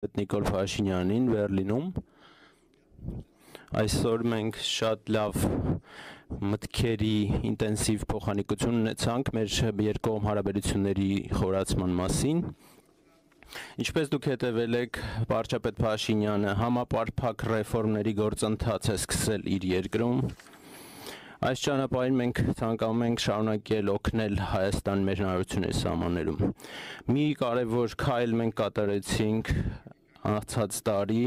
Նիկոլ Փաշինյանին Բերլինում։ Այսօր մենք շատ լավ մտքերի ինտենսիվ փոխանակություն ունեցանք մեր երկկողմ հարաբերությունների խորացման մասին։ Ինչպես դուք հետևել եք, վարչապետ Փաշինյանը համապարփակ ռեֆորմների գործընթաց է սկսել իր երկրում։ Այս ճանապարհին մենք ցանկանում ենք շարունակել օգնել Հայաստան մեր հնարավորությունների սահմաններում։ Մի կարևոր քայլ մենք կատարեցինք անցած տարի,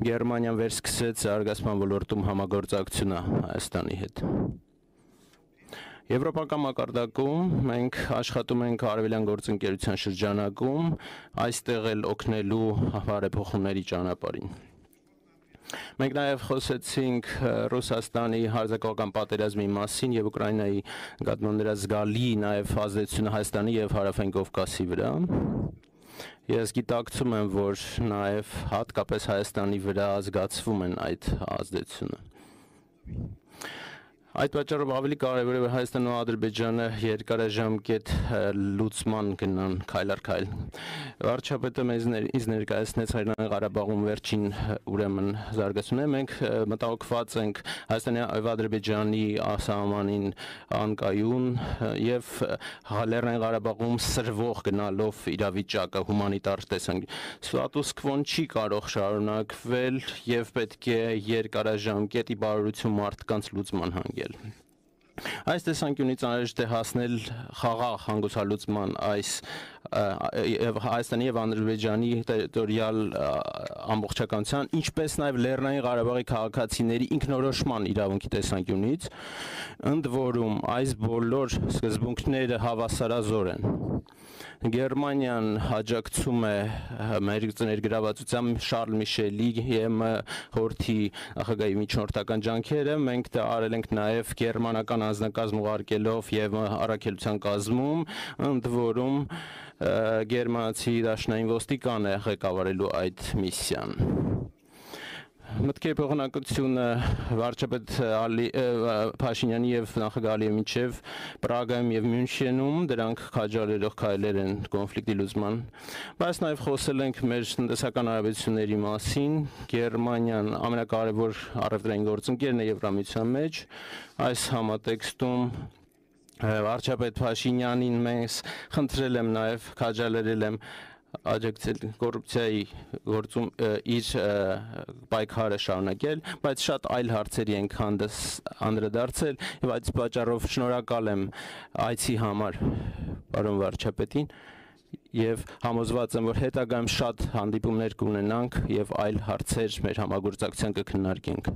Գերմանիան վերսկսեց զարգացման ոլորտում համագործակցությունը Հայաստանի հետ։ Եվրոպական մակարդակում մենք աշխատում ենք Արևելյան գործընկերության շրջանակում, այստեղ էլ օգնելու բարեփոխումների ճանապարհին։ Մենք նաև խոսեցինք Ռուսաստանի հարձակողական պատերազմի մասին եւ Ուկրաինայի նկատմամբ նրա զգալի նաև ազդեցությունը Հայաստանի եւ Հարավային Կովկասի վրա։ Ես գիտակցում եմ, որ նաև հատկապես Հայաստանի վրա զգացվում են այդ ազդեցությունը։ Այդ պատճառով ավելի կարևոր է, որ Հայաստանն ու Ադրբեջանը երկարաժամկետ լուծման գնան քայլ առ քայլ։ Վարչապետը ինձ ներկայացնեց Լեռնային Ղարաբաղում վերջին ուրեմն զարգացումները։ Մենք մտահոգված ենք Հայաստանի եւ Ադրբեջանի սահմանին անկայուն եւ Լեռնային Ղարաբաղում սրվող գնալով իրավիճակը հումանիտար տեսանկյունից։ Ստատուս քվոն չի կարող շարունակվել եւ պետք է երկարաժամկետի բարօրություն մարդկանց լուծման հանգել։ Այս տեսանկյունից անհրաժեշտ է հասնել խաղաղ հանգուցալուծման այս Հայաստանի եւ Ադրբեջանի տերիտորիալ ամբողջականության, ինչպես նաեւ Լեռնային Ղարաբաղի քաղաքացիների ինքնորոշման իրավունքի տեսանկյունից, ընդ որում այս բոլոր սկզբունքները հավասարազոր են։ Գերմանիան աջակցում է մեր ներգրավվածությամբ Շարլ Միշելի ԵՄ խորհրդի նախագահի միջնորդական ջանքերը, մենք դա արել ենք նաև գերմանական անձնակազմ ուղարկելով եւ առաքելության կազմում, ընդ որում գերմանացի դաշնային ոստիկան է ղեկավարելու այդ միսիան։ Մտքերի փոխանակությունը վարչապետ Փաշինյանի եւ նախագահ Ալիևի միջեւ Պրագայում եւ Մյունխենում, դրանք քաջալերող քայլեր են կոնֆլիկտի լուծման, բայց նաեւ խոսել ենք մեր տնտեսական հարաբերությունների մասին։ Գերմանիան ամենակարևոր առևտրային գործընկերն է Եվրամիության մեջ, այս համատեքստում վարչապետ Փաշինյանին մենք խնդրել եմ նաեւ քաջալերել եմ աջակցել կոռուպցիայի գործում իր պայքարը շարունակել, բայց շատ այլ հարցերի ենք անդրադարձել եւ այդ պատճառով շնորհակալ եմ այցի համար պարոն վարչապետին եւ համոզված եմ, որ հետագայում շատ հանդիպումներ կունենանք եւ այլ հարցեր մեր համագործակցության կքննարկենք։